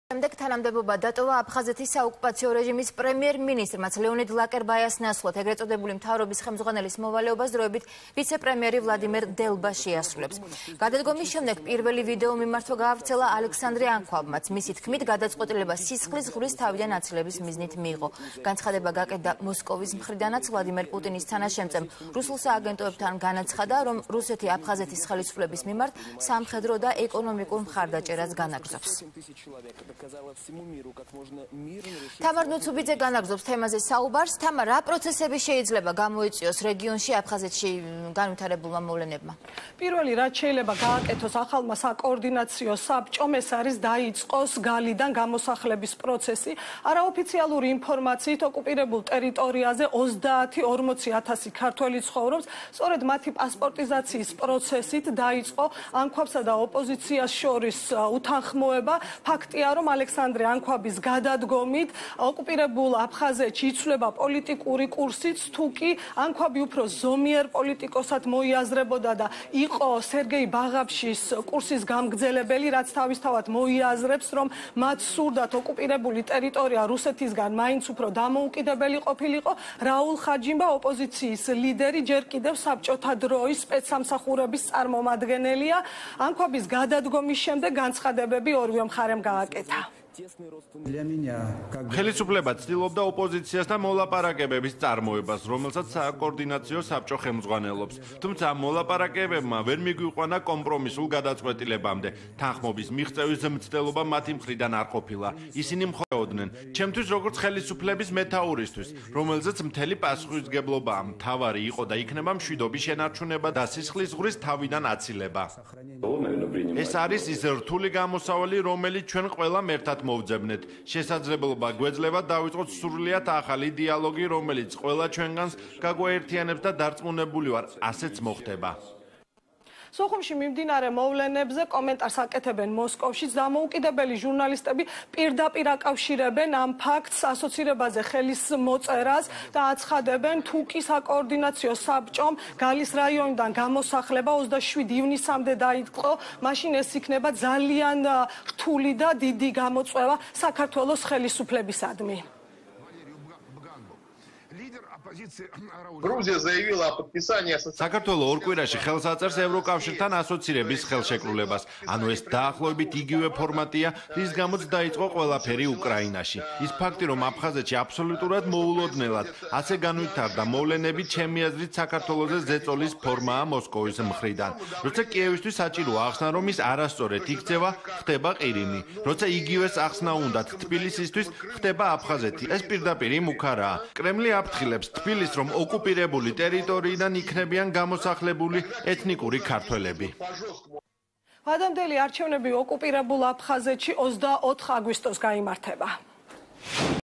შემდეგ თანამდებობა დატოვა აფხაზეთის საოკუპაციო რეჟიმის პრემიერ-მინისტრმა ლეონიდ ლაკერბაიას ნაცვლად ეგრეთ წოდებული მთავრობის ხელმძღვანელის მოვალეობას დროებით ვიცე-პრემიერი ვლადიმერ დელბა შეასრულებს. გადადგომის შემდეგ პირველი ვიდეო მიმართვა გაავრცელა ალექსანდრე ანქვაბმაც. მისი თქმით, გადაწყვეტილება სისხლის ღურის თავიდან აცილების მიზნით მიიღო. განცხადება გაკეთდა მოსკოვის მხრიდანაც ვლადიმერ პუტინის თანაშემწემ რუსულ სააგენტოებთან განაცხადა, რომ რუსეთი აფხაზეთის ხელისუფლების მიმართ სამხედრო და ეკონომიკურ მხარდაჭერას განაგრძობს. თამარ ნუცუბიძე განაგრძობს თემაზე საუბარს. თამარ, რა პროცესები შეიძლება გამოიწვიოს რეგიონში აფხაზეთში განვითარებულმა მოვლენებმა? პირველი, რაც შეიძლება გააკეთოს ახალმა საკოორდინაციო საბჭომ, ეს არის დაიწყოს გალიდან გამოსახლების პროცესი. არაოფიციალური ინფორმაციით ოკუპირებულ ტერიტორიაზე 30-40,000 ქართველი ცხოვრობს. სწორედ მათი პასპორტიზაციის პროცესით დაიწყო ანქვაბსა და ოპოზიციას შორის უთანხმოება. ფაქტია, რომ ალექსანდრე ანქვაბის გადადგომით ოკუპირებულ აფხაზეთში იცვლება პოლიტიკური კურსიც, თუკი ანქვაბი უფრო ზომიერ პოლიტიკოსად მოიაზრებოდა და იყო სერგეი ბაღაფშის კურსის გამგზელებელი, რაც თავისთავად მოიაზრებს, რომ მათ სურდათ ოკუპირებული ტერიტორია რუსეთისგან მაინც უფრო დამოუკიდებელი ყოფილიყო. რაულ ხაჯიმბა, ოპოზიციის ლიდერი, ჯერ კიდევ საბჭოთა დროის სპეცსამსახურების წარმომადგენელია. ანქვაბის გადადგომის შემდეგ განცხადებები ორივე მხარემ გააკეთა. ხელისუფლება ცდილობდა ოპოზიციასთან მოლაპარაკებების წარმოებას, რომელსაც საკოორდინაციო საბჭო ხელმძღვანელობს. თუმცა ამ მოლაპარაკებებმა ვერ მიგვიყვანა კომპრომისულ გადაწყვეტილებამდე. თანხმობის მიღწევის მცდელობა მათი მხრიდან არ ყოფილა. ისინი მხოლოდნენ ჩემთვის როგორც ხელისუფლების მეთაურისთვის, რომელზეც მთელი პასუხისმგებლობა მთავარი იყო და იქნება მშვიდობის შენარჩუნება და სისხლის ღურის თავიდან აცილება. ეს არის ის რთული გამოსავალი, რომელიც ჩვენ ყველამ ერთად მოვძებნეთ. შესაძლებლობა გვეძლება დავიწყოთ სრულიად ახალი დიალოგი, რომელიც ყველა ჩვენგანს გაგვაერთიანებს და დარწმუნებული ვარ, ასეც მოხდება. სოხუმში მიმდინარე მოვლენებზე კომენტარს აკეთებენ მოსკოვშიც. დამოუკიდებელი ჟურნალისტები პირდაპირ აკავშირებენ ამ ფაქტს ასოცირებაზე ხელის მოწერას და აცხადებენ, თუკი საკოორდინაციო საბჭომ გალის რაიონიდან გამოსახლება 27 ივნისამდე დაიწყო, მაშინ ეს იქნება ძალიან რთული და დიდი გამოწვევა საქართველოს ხელისუფლებისადმი. Грузия заявила о подписании საქართველო ორ კვირაში ხელს აწერს ევროკავშირთან ასოცირების ხელშეკრულებას. ანუ ეს დაახლოებით იგივე ფორმატია, რის გამოც დაიწყო ყველაფერი უკრაინაში. ის ფაქტი, რომ აფხაზეთში აბსოლუტურად მოულოდნელად ასე განვითარდა მოვლენები, ჩემი აზრით საქართველოზე ზეწოლის ფორმაა მოსკოვის მხრიდან. როცა კიევისთვის საჭიროა ახსნა, რომ ის არასწორად იქცევა, ხდება ყირიმი. როცა იგივეს ახსნა უნდათ თბილისისთვის, ხდება აფხაზეთი. ეს პირდაპირ მუქარაა. კრემლი აფრთხილებს თბილისს, რომ ოკუპირებული ტერიტორიიდან იქნებიან გამოსახლებული ეთნიკური ქართველები. ადამდელი არჩევნები ოკუპირებულ აფხაზეთში 24 აგვისტოს გაიმართება.